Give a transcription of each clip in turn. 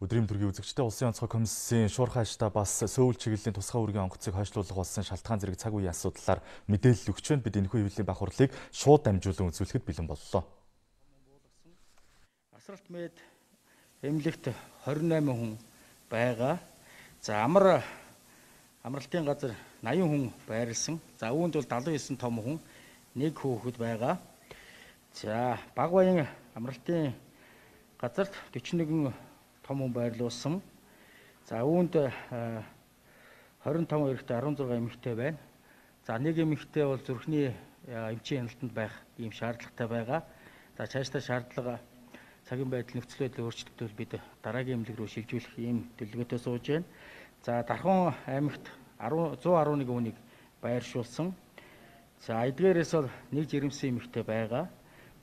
Өдрийн төргийн үзэгчтэй Улсын онцгой комиссийн шуурхай штаб бас Сөүл чиглэлийн тусгай үүргийн онгоцыг хойшлуулах болсон шалтгаан зэрэг цаг үеийн асуудлаар мэдээлэл өгч байна. Бид энэхүү хэвлэлийн бах хурлыг шууд дамжуулан үзүүлэхэд бэлэн боллоо. Асралт мэд эмнэлэгт 28 хүн байгаа. За амралтын газар 80 хүн байрлсан. За үүнд бол 79 том хүн, 1 хүүхэд байгаа. За баг баян амралтын газарт 41 том хүн байрлуулсан. За үүнд 25 эрэгтэй 16 эмэгтэй байна. За нэг эмэгтэй бол зүрхний эмчийн хяналтанд байх ийм шаардлагатай байгаа. За цаашдаа шаардлага цагийн байдал нөхцөл байдлын өөрчлөлтөд бид дараагийн эмнэлэг рүү шилжүүлэх ийм төлөвлөгөөтэй сууж байна. За Дархан аймагт 111 хүнийг байршуулсан. За эдгээрээс бол нэг жирэмсэн эмэгтэй байгаа.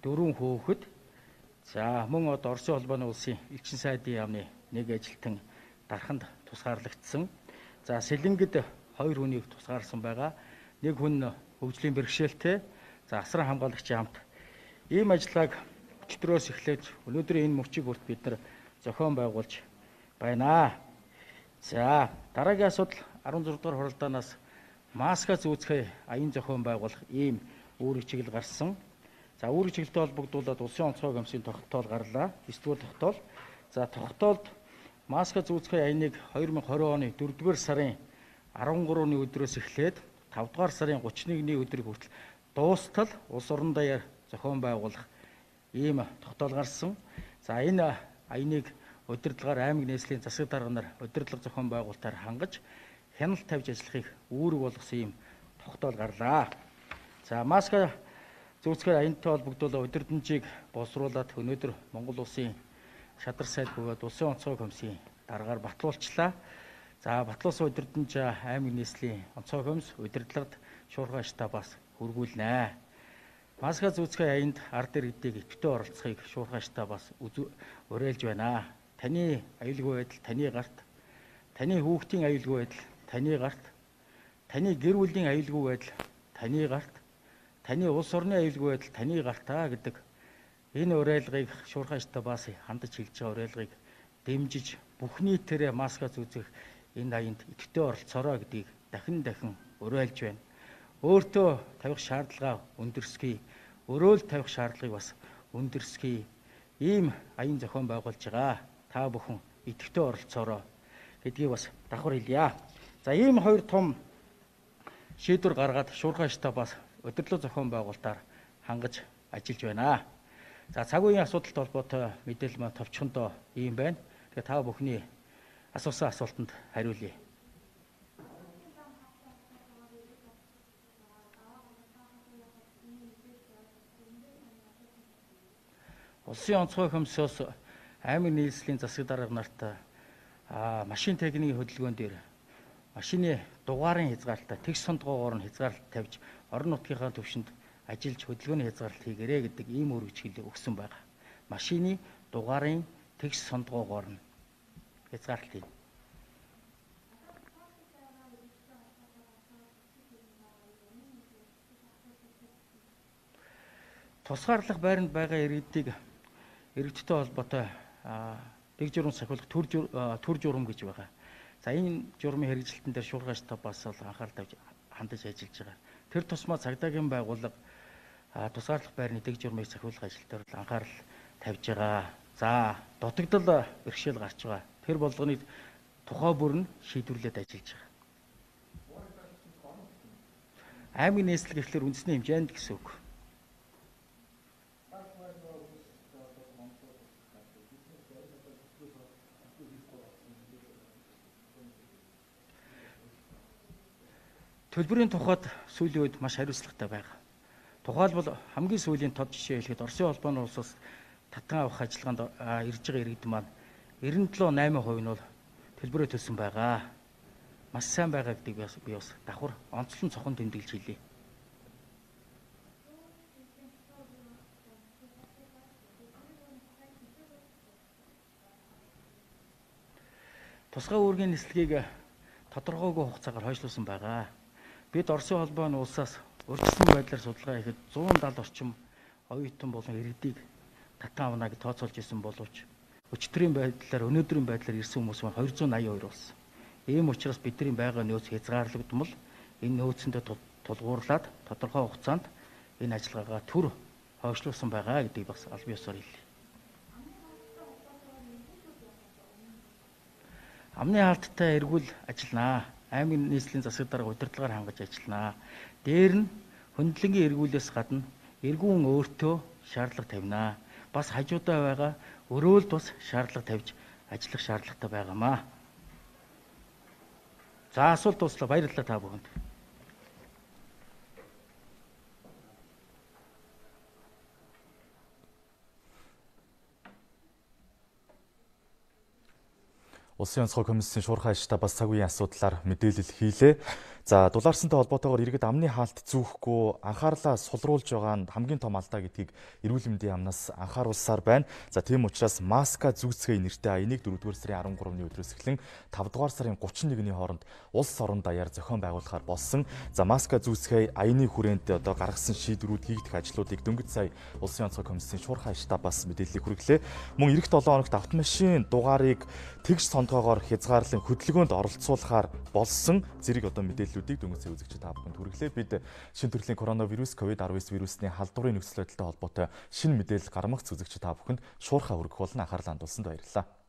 4 хүүхэд. За мөн одоо Оросын холбооны улсын элчин сайдын яамны нэг ажилтан Дарханд тусгаарлагдсан. За Сэлэнгэд 2 хүнийг тусгаарсан байгаа. Нэг хүн хөгжлийн бэрхшээлтэй. За асран хамгаалагчийн хамт ийм ажиллагааг өчигдрөөс эхлээд өнөөдрийн энэ мөчиг бүрт бид нар зохион байгуулж байна. За дараагийн асуудал 16 дугаар хуралдаанаас маска зүүцгээ аян зохион байгуулах ийм үүрэг чиглэл гарсан. За үүрэг чиглэлтэй холбогдуулаад Улсын онцгой комиссийн тогтоол гарлаа. 9-р тогтоол. За тогтоолд маска зүүцгээ аяныг 2020 оны 4-р сарын 13-ны өдрөөс эхлээд 5-р сарын 31-ний өдрийг хүртэл дуустал улс орон даяар зохион байгуулах ийм тогтоол гарсан. За энэ аяныг удирдлагаар аймаг нийслэлийн засаг дарга нар удирдлага зохион байгуулалтаар хангаж хяналт тавьж ажиллахыг үүрэг болгосон ийм тогтоол гарлаа. За маска зүүцгээр аянтай холбогдуулаад удирдамжийг боловсруулад өнөөдөр Монгол улсын шадар сайд бөгөөд Улсын онцгой комиссийн даргаар батлуулчлаа. За батлуулсан удирдамж аймаг нийслэлийн онцгой комисс удирдлагад шуурхай штабаас хүргүүлнэ. Маска зүүцгээ аянд ард иргэдийг идэвхтэй оролцохыг шуурхай штабаас уриалж байна. Таны аюулгүй байдал таны гарт, таны хүүхдийн аюулгүй байдал таны гарт, таны гэр бүлийн аюулгүй байдал таны гарт, таны улс орны аюулгүй байдал таны гартаа гэдэг энэ уриалгыг шуурхай штабаас хандаж хэлж байгаа уриалгыг дэмжиж бүх нийтээрээ маска зүүцэх энэ аянд идэвхтэй оролцоорой гэдгийг дахин уриалж байна. Өөртөө тавих шаардлага өндөрсгий, өрөөл тавих шаардлагыг бас өндөрсгий. Ийм аян зохион байгуулж байгаа. Та бүхэн идэвхтэй оролцоорой гэдгийг бас давхар хэлье. За ийм хоёр том шийдвэр гаргаад шуурхай штабаас удирдлага зохион байгуулалтаар хангаж ажиллаж байна. За цаг үеийн асуудалтай холбоотой мэдээлэл маань товчхондоо ийм байна. Тэгээ та бүхний асуусан асуултанд хариулъя. Улсын онцгой комиссоос аймаг нийслэлийн засаг дарга нарт машин техникийн хөдөлгөөн дээр машины дугаарын хязгаарлалтаа тэгш сондгоогоор нь хязгаарлалт тавьж орон нутгийнхаа төвшөнд ажиллаж хөдөлгөөний хязгаарлалт хийгээрэй гэдэг ийм үүрэгчлэл өгсөн байгаа. Машины дугаарын тэгш сондгоогоор нь хязгаарлалт хийнэ. Тусгаарлах байранд байгаа иргэдтэй холбоотой дэг журам сахиулах төр журам гэж байгаа. За энэ журмын хэрэгжилтэн дээр шуурхай штабаас анхаарал тавьж хандаж ажиллаж байгаа. Тэр тусмаа цагдаагийн байгууллага тусгаарлах байрны дэг журмыг сахиулах ажил дээр анхаарал тавьж байгаа. За дутагдал бэрхшээл гарч байгаа. Тэр болгоныг тухай бүр нь шийдвэрлээд ажиллаж байгаа. Аймаг нийслэл гэхлээр үндэсний хэмжээнд гэсэн үг. Төлбөрийн тухайд сүүлийн үед маш хариуцлагатай байгаа. Тухайлбал хамгийн сүүлийн тод жишээ хэлэхэд Оросын холбооны улсаас татан авах ажиллагаанд ирж байгаа иргэд маань 97.8% нь бол төлбөрөө төлсөн байгаа. Маш сайн байгаа гэдгийг би бас давхар онцлон цохон тэмдэглэж хэлье. Тусгай үүргийн нислэгийг тодорхойгүй хугацаагаар хойшлуулсан байгаа. Бид Оросын холбооны улсаас урьдчилсан байдлаар судалгаа хийхэд 170 орчим оюутан болон иргэдийг татан авна гэж тооцоолж исэн боловч өчтөрийн байдлаар өнөөдрийн байдлаар ирсэн хүмүүс маань 282 болсон. Ийм учраас бидний байгаа нөөц хязгаарлагдмал энэ нөөцөндөө тулгуурлаад тодорхой хугацаанд энэ ажиллагаагаа түр хойшлуулсан байгаа гэдгийг бас аль биесээр хэлье. Амны хаалттай эргүүл ажилланаа. Аймгийн нийслэлийн засаг дарга удирдлагаар хангаж ажилланаа. Дээр нь хөндлөнгийн эргүүлээс гадна эргүүн өөртөө шаардлага тавина. Бас хажуудаа байгаа өрөөлд бас шаардлага тавьж ажиллах шаардлагатай байгаамаа. За асуулт дуслаа. Баярлалаа та бүхэнд. Улсын онцгой комиссийн шуурхай штабаас цаг үеийн асуудлаар мэдээлэл хийлээ. За дулаарсантай холбоотойгоор иргэд амны хаалт зүүхгүй анхаарлаа сулруулж байгаа нь хамгийн том алдаа гэдгийг эрүүл мэндийн яамнаас анхааруулсаар байна. За тийм учраас маска зүүцгээ нэртэй аяныг 4-р сарын 13-ны өдрөөс эхлэн 5-р сарын 31-ний хооронд улс орон даяар зохион байгуулахаар болсон. За маска зүүцгээ аяны хүрээнд одоо гаргасан шийдвэрүүд хийгдэх ажлуудыг дөнгөж сая Улсын онцгой комиссийн шуурхай штабаас мэдээллийг хүргэлээ. Мөн эх 7 хоногт автомашин дугаарыг тэгш сонтоогоор хязгаарлан хөдөлгөөнд оролцуулахаар болсон зэрэг одоо мэдээллүүдийг дөнгөж сая үзэгчид та бүхэнд хүргэлээ. Бид шинэ төрлийн коронавирус COVID-19 вирусны халдварын нөхцөл байдалтай холбоотой шинэ мэдээлэл гаргамагц үзэгчид та бүхэнд шуурхай хүргэх болно. Анхаарлаа хандуулсанд баярлалаа.